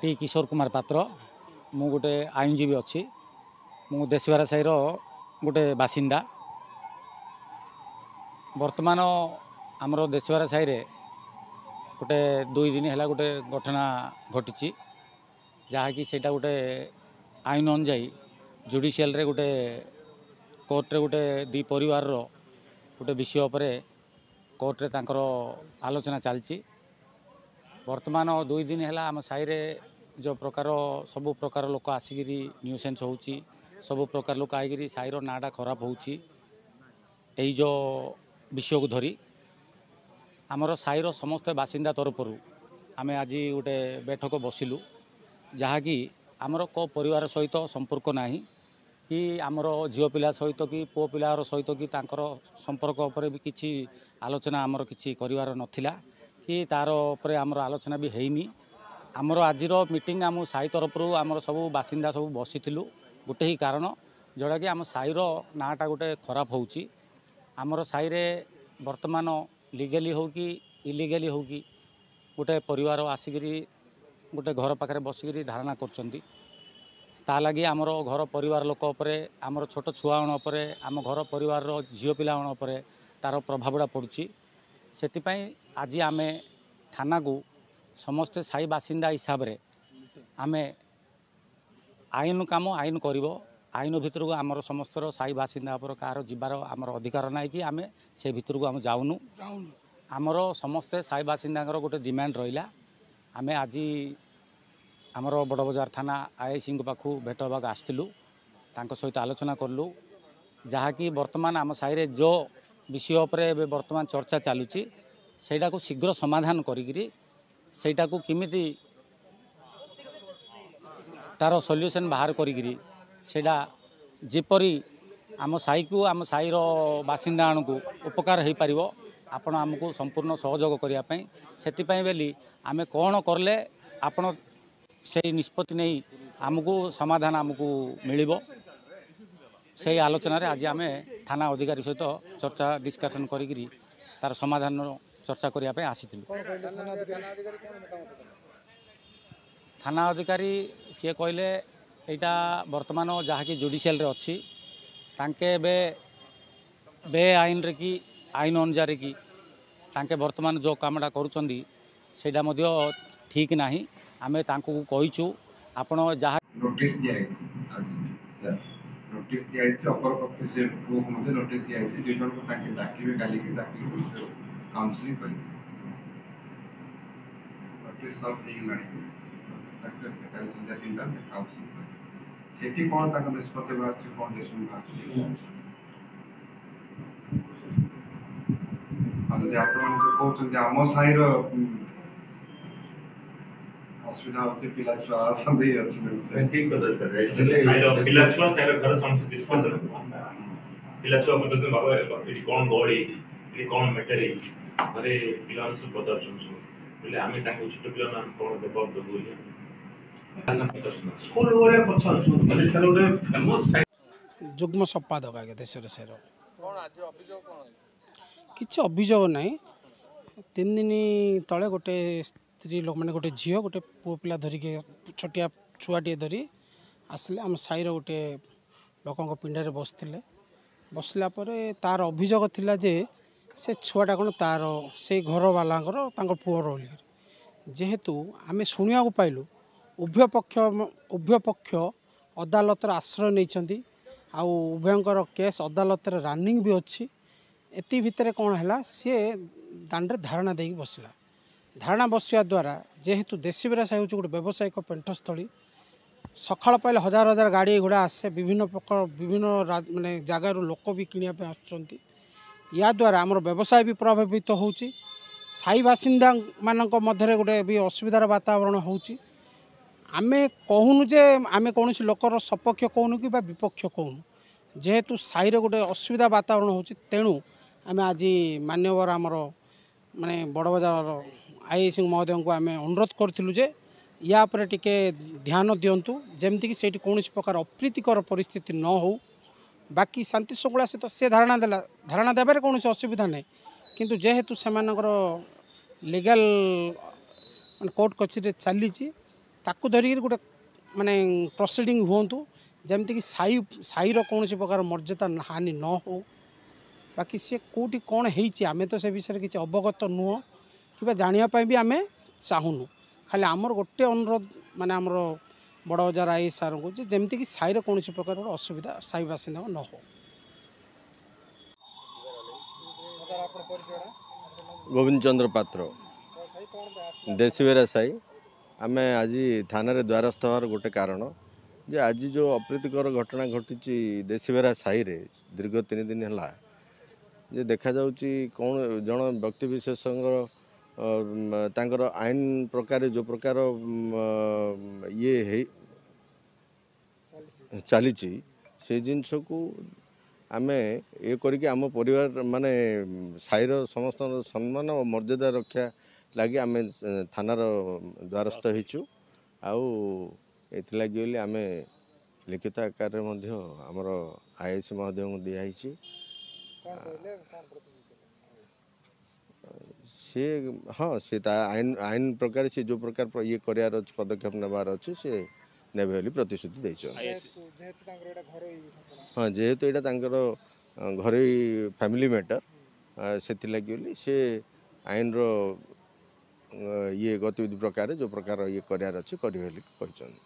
ଟି କିଶୋର କୁମାର ପାତ୍ର। ମୁଁ ଗୋଟେ ଆଇନଜୀବୀ ଅଛି। ମୁଁ ଦେଶିବାରା ସାହିର ଗୋଟେ ବାସିନ୍ଦା। ବର୍ତ୍ତମାନ ଆମର ଦେଶିବାରା ସାହିରେ ଗୋଟେ 2 ଦିନ ହେଲା ଗୋଟେ ଘଟଣା ଘଟିଛି, ଯାହାକି ସେଇଟା ଗୋଟେ ଆଇନ ଅନୁଯାୟୀ ଜୁଡ଼ିସିଆଲରେ ଗୋଟେ କୋର୍ଟରେ ଗୋଟେ ଦୁଇ ପରିବାରର ଗୋଟେ ବିଷୟ ଉପରେ କୋର୍ଟରେ ତାଙ୍କର ଆଲୋଚନା ଚାଲିଛି। ବର୍ତ୍ତମାନ 2 ଦିନ ହେଲା ଆମ ସାହିରେ ଯେଉଁ ପ୍ରକାର ସବୁ ପ୍ରକାର ଲୋକ ଆସିକିରି ନ୍ୟୁସେନ୍ସ ହେଉଛି, ସବୁ ପ୍ରକାର ଲୋକ ଆଇକିରି ସାହିର ନାଁଟା ଖରାପ ହେଉଛି। ଏଇ ଯେଉଁ ବିଷୟକୁ ଧରି ଆମର ସାହିର ସମସ୍ତ ବାସିନ୍ଦା ତରଫରୁ ଆମେ ଆଜି ଗୋଟେ ବୈଠକ ବସିଲୁ, ଯାହାକି ଆମର କେଉଁ ପରିବାର ସହିତ ସମ୍ପର୍କ ନାହିଁ କି ଆମର ଝିଅ ପିଲା ସହିତ କି ପୁଅ ପିଲାର ସହିତ କି ତାଙ୍କର ସମ୍ପର୍କ ଉପରେ ବି କିଛି ଆଲୋଚନା ଆମର କିଛି କରିବାର ନଥିଲା କି ତା'ର ଉପରେ ଆମର ଆଲୋଚନା ବି ହେଇନି। ଆମର ଆଜିର ମିଟିଂ ଆମ ସାହି ତରଫରୁ ଆମର ସବୁ ବାସିନ୍ଦା ସବୁ ବସିଥିଲୁ ଗୋଟେ ହିଁ କାରଣ, ଯେଉଁଟାକି ଆମ ସାହିର ନାଁଟା ଗୋଟେ ଖରାପ ହେଉଛି। ଆମର ସାହିରେ ବର୍ତ୍ତମାନ ଲିଗାଲି ହେଉ କି ଇଲିଗାଲି ହେଉ କି ଗୋଟେ ପରିବାର ଆସିକିରି ଗୋଟେ ଘର ପାଖରେ ବସିକିରି ଧାରଣା କରୁଛନ୍ତି। ତା ଲାଗି ଆମର ଘର ପରିବାର ଲୋକ ଉପରେ, ଆମର ଛୋଟ ଛୁଆଣ ଉପରେ, ଆମ ଘର ପରିବାରର ଝିଅ ପିଲାମାନ ଉପରେ ତା'ର ପ୍ରଭାବଟା ପଡ଼ୁଛି। ସେଥିପାଇଁ ଆଜି ଆମେ ଥାନାକୁ ସମସ୍ତେ ସାହି ବାସିନ୍ଦା ହିସାବରେ ଆମେ ଆଇନ କାମ ଆଇନ କରିବ, ଆଇନ ଭିତରକୁ ଆମର ସମସ୍ତର ସାହି ବାସିନ୍ଦା ଉପରେ କାହାର ଯିବାର ଆମର ଅଧିକାର ନାହିଁ କି ଆମେ ସେ ଭିତରକୁ ଆମେ ଯାଉନୁ। ଆମର ସମସ୍ତେ ସାହି ବାସିନ୍ଦାଙ୍କର ଗୋଟେ ଡିମାଣ୍ଡ ରହିଲା। ଆମେ ଆଜି ଆମର ବଡ଼ ବଜାର ଥାନା ଆଇଆଇସିଙ୍କ ପାଖକୁ ଭେଟ ହେବାକୁ ଆସିଥିଲୁ, ତାଙ୍କ ସହିତ ଆଲୋଚନା କଲୁ, ଯାହାକି ବର୍ତ୍ତମାନ ଆମ ସାହିରେ ଯେଉଁ ବିଷୟ ଉପରେ ଏବେ ବର୍ତ୍ତମାନ ଚର୍ଚ୍ଚା ଚାଲୁଛି ସେଇଟାକୁ ଶୀଘ୍ର ସମାଧାନ କରିକିରି ସେଇଟାକୁ କେମିତି ତା'ର ସଲ୍ୟୁସନ୍ ବାହାର କରିକିରି ସେଇଟା ଯେପରି ଆମ ସାହିକୁ ଆମ ସାହିର ବାସିନ୍ଦାମାନଙ୍କୁ ଉପକାର ହୋଇପାରିବ, ଆପଣ ଆମକୁ ସମ୍ପୂର୍ଣ୍ଣ ସହଯୋଗ କରିବା ପାଇଁ ସେଥିପାଇଁ ବୋଲି ଆମେ କ'ଣ କଲେ ଆପଣ ସେଇ ନିଷ୍ପତ୍ତି ନେଇ ଆମକୁ ସମାଧାନ ଆମକୁ ମିଳିବ, ସେଇ ଆଲୋଚନାରେ ଆଜି ଆମେ ଥାନା ଅଧିକାରୀ ସହିତ ଚର୍ଚ୍ଚା ଡିସ୍କସନ୍ କରିକିରି ତା'ର ସମାଧାନର ଚର୍ଚ୍ଚା କରିବା ପାଇଁ ଆସିଥିଲୁ। ଥାନା ଅଧିକାରୀ ସିଏ କହିଲେ ଏଇଟା ବର୍ତ୍ତମାନ ଯାହାକି ଜୁଡ଼ିସିଆଲରେ ଅଛି, ତାଙ୍କେ ଏବେ ବେଆଇନରେ କି ଆଇନ ଅନୁଯାୟୀ କି ତାଙ୍କେ ବର୍ତ୍ତମାନ ଯେଉଁ କାମଟା କରୁଛନ୍ତି ସେଇଟା ମଧ୍ୟ ଠିକ୍ ନାହିଁ। ଆମେ ତାଙ୍କୁ କହିଛୁ ଆପଣ ଯାହା ନୋଟିସ୍ ଦିଆହେଇଛି, ଆଜି ନୋଟିସ୍ ଦିଆହେଇଛି, ଅପରପକ୍ଷ ସେ ପୁଅକୁ ମଧ୍ୟ ନୋଟିସ୍ ଦିଆହେଇଛି, 2 ଜଣଙ୍କୁ ତାଙ୍କେ ଡାକିବେ, କାଲିକି ଡାକିକି କାଉନସିଲିଂ କରିବେ। ନୋଟିସ୍ ସର୍ଭ ହେଇଗଲାଣି, କାଲି ସନ୍ଧ୍ୟା 3ଟା କାଉନସିଲିଂ କରିବେ। ସେଠି କ'ଣ ତାଙ୍କ ନିଷ୍ପତ୍ତି ବାହାରୁଛି, କ'ଣ ଡିସିସନ୍ ବାହାରୁଛି। ଆଉ ଯଦି ଆପଣମାନେ ଯୋଉ କହୁଛନ୍ତି ଆମ ସାହିର ଅସୁବିଧା ହଉଛି, ପିଲା ଛୁଆ ଅଛନ୍ତି, ଅଛନ୍ତି। ଠିକ କଥା ସାର୍, ପିଲା ଛୁଆ ସାହିର ଘରେ ସମସ୍ତେ ଡିସ୍କସନ୍, ପିଲା ଛୁଆ ପଚାରୁଛନ୍ତି ବାବା ଏଠି କ'ଣ ଗହଳି ହେଇଛି, ଏଠି କ'ଣ ମ୍ୟାଟର ହେଇଛି, ଘରେ ପିଲାମାନେ ସବୁ ପଚାରୁଛନ୍ତି ସବୁ, ବୋଇଲେ ଆମେ ତାଙ୍କୁ ଛୋଟ ପିଲାମାନେ ଆମେ କ'ଣ ଜବାବ ଦେବୁ ବୋଲି ସ୍କୁଲ ଘରେ ପଚାରୁଛନ୍ତି। ସାର୍ ଗୋଟେ ଫେମସ୍ ଯୁଗ୍ମ ସମ୍ପାଦକ ଆଜ୍ଞା ଦେଶରେ ସାହିର କିଛି ଅଭିଯୋଗ ନାହିଁ। 3 ଦିନ ତଳେ ଗୋଟେ ସ୍ତ୍ରୀ ଲୋକ ମାନେ ଗୋଟେ ଝିଅ ଗୋଟେ ପୁଅ ପିଲା ଧରିକି ଛୋଟିଆ ଛୁଆଟିଏ ଧରି ଆସିଲେ ଆମ ସାହିର ଗୋଟେ ଲୋକଙ୍କ ପିଣ୍ଡାରେ ବସିଥିଲେ। ବସିଲା ପରେ ତାର ଅଭିଯୋଗ ଥିଲା ଯେ ସେ ଛୁଆଟା କ'ଣ ତାର ସେଇ ଘରବାଲାଙ୍କର ତାଙ୍କ ପୁଅର ବୋଲି। ଯେହେତୁ ଆମେ ଶୁଣିବାକୁ ପାଇଲୁ ଉଭୟ ପକ୍ଷ ଅଦାଲତର ଆଶ୍ରୟ ନେଇଛନ୍ତି ଆଉ ଉଭୟଙ୍କର କେସ୍ ଅଦାଲତରେ ରନିଂ ବି ଅଛି। ଏତିକି ଭିତରେ କ'ଣ ହେଲା, ସିଏ ଦାଣ୍ଡରେ ଧାରଣା ଦେଇକି ବସିଲା। ଧାରଣା ବସିବା ଦ୍ୱାରା ଯେହେତୁ ଦେଶୀବିରା ସାହି ହେଉଛି ଗୋଟେ ବ୍ୟବସାୟିକ ପେଣ୍ଠସ୍ଥଳୀ, ସକାଳ ପାଇଲେ ହଜାର ହଜାର ଗାଡ଼ି ଘୋଡ଼ା ଆସେ, ବିଭିନ୍ନ ପ୍ରକାର ବିଭିନ୍ନ ମାନେ ଜାଗାରୁ ଲୋକ ବି କିଣିବା ପାଇଁ ଆସୁଛନ୍ତି। ୟା ଦ୍ୱାରା ଆମର ବ୍ୟବସାୟ ବି ପ୍ରଭାବିତ ହେଉଛି, ସାହି ବାସିନ୍ଦାମାନଙ୍କ ମଧ୍ୟରେ ଗୋଟେ ବି ଅସୁବିଧାର ବାତାବରଣ ହେଉଛି। ଆମେ କହୁନୁ ଯେ ଆମେ କୌଣସି ଲୋକର ସପକ୍ଷ କହୁନୁ କି ବା ବିପକ୍ଷ କହୁନୁ, ଯେହେତୁ ସାହିରେ ଗୋଟେ ଅସୁବିଧା ବାତାବରଣ ହେଉଛି, ତେଣୁ ଆମେ ଆଜି ମାନ୍ୟବର ଆମର ମାନେ ବଡ଼ ବଜାରର ଆଇଆଇସି ମହୋଦୟଙ୍କୁ ଆମେ ଅନୁରୋଧ କରିଥିଲୁ ଯେ ୟା ଉପରେ ଟିକେ ଧ୍ୟାନ ଦିଅନ୍ତୁ, ଯେମିତିକି ସେଇଠି କୌଣସି ପ୍ରକାର ଅପ୍ରୀତିକର ପରିସ୍ଥିତି ନ ହେଉ। ବାକି ଶାନ୍ତି ଶୃଙ୍ଖଳା ସହିତ ସେ ଧାରଣା ଦେଲା, ଧାରଣା ଦେବାରେ କୌଣସି ଅସୁବିଧା ନାହିଁ, କିନ୍ତୁ ଯେହେତୁ ସେମାନଙ୍କର ଲିଗାଲ ମାନେ କୋର୍ଟ କଚେରୀରେ ଚାଲିଛି, ତାକୁ ଧରିକିରି ଗୋଟେ ମାନେ ପ୍ରୋସିଡ଼ିଂ ହୁଅନ୍ତୁ, ଯେମିତିକି ସାହିର କୌଣସି ପ୍ରକାର ମର୍ଯ୍ୟାଦା ହାନି ନ ହେଉ। ବାକି ସେ କେଉଁଠି କ'ଣ ହେଇଛି ଆମେ ତ ସେ ବିଷୟରେ କିଛି ଅବଗତ ନୁହଁ କିମ୍ବା ଜାଣିବା ପାଇଁ ବି ଆମେ ଚାହୁଁନୁ। ଖାଲି ଆମର ଗୋଟେ ଅନୁରୋଧ ମାନେ ଆମର ବଡ଼ ବଜାର I ସାର୍ଙ୍କୁ ଯେ ଯେମିତିକି ସାହିର କୌଣସି ପ୍ରକାର ଗୋଟେ ଅସୁବିଧା ସାହି ବାସିନ୍ଦାଙ୍କ ନ ହେଉ। ଗୋବିନ୍ଦ ଚନ୍ଦ୍ର ପାତ୍ର, ଦେଶୀବେରା ସାହି। ଆମେ ଆଜି ଥାନାରେ ଦ୍ୱାରସ୍ଥ ହେବାର ଗୋଟେ କାରଣ ଯେ ଆଜି ଯେଉଁ ଅପ୍ରୀତିକର ଘଟଣା ଘଟିଛି ଦେଶୀବେରା ସାହିରେ ଦୀର୍ଘ 3 ଦିନ ହେଲା, ଯେ ଦେଖାଯାଉଛି କ'ଣ ଜଣ ବ୍ୟକ୍ତି ବିଶେଷଙ୍କର ତାଙ୍କର ଆଇନ ପ୍ରକାରେ ଯେଉଁ ପ୍ରକାର ଇଏ ହେଇ ଚାଲିଛି, ସେ ଜିନିଷକୁ ଆମେ ଇଏ କରିକି ଆମ ପରିବାର ମାନେ ସାହିର ସମସ୍ତଙ୍କର ସମ୍ମାନ ଓ ମର୍ଯ୍ୟାଦା ରକ୍ଷା ଲାଗି ଆମେ ଥାନାର ଦ୍ୱାରସ୍ଥ ହେଇଛୁ। ଆଉ ଏଥିଲାଗି ବୋଲି ଆମେ ଲିଖିତ ଆକାରରେ ମଧ୍ୟ ଆମର I I C ମହୋଦୟଙ୍କୁ ଦିଆହେଇଛି। ସିଏ ହଁ ସେ ତା ଆଇନ ପ୍ରକାର ସେ ଯେଉଁ ପ୍ରକାର ଇଏ କରିବାର ଅଛି, ପଦକ୍ଷେପ ନେବାର ଅଛି, ସେ ନେବେ ବୋଲି ପ୍ରତିଶ୍ରୁତି ଦେଇଛନ୍ତି। ହଁ, ଯେହେତୁ ଏଇଟା ତାଙ୍କର ଘରୋଇ ଫ୍ୟାମିଲି ମ୍ୟାଟର, ସେଥିଲାଗି ବୋଲି ସେ ଆଇନର ଇଏ ଗତିବିଧି ପ୍ରକାରେ ଯେଉଁ ପ୍ରକାର ଇଏ କରିବାର ଅଛି କରିବେ ବୋଲି କହିଛନ୍ତି।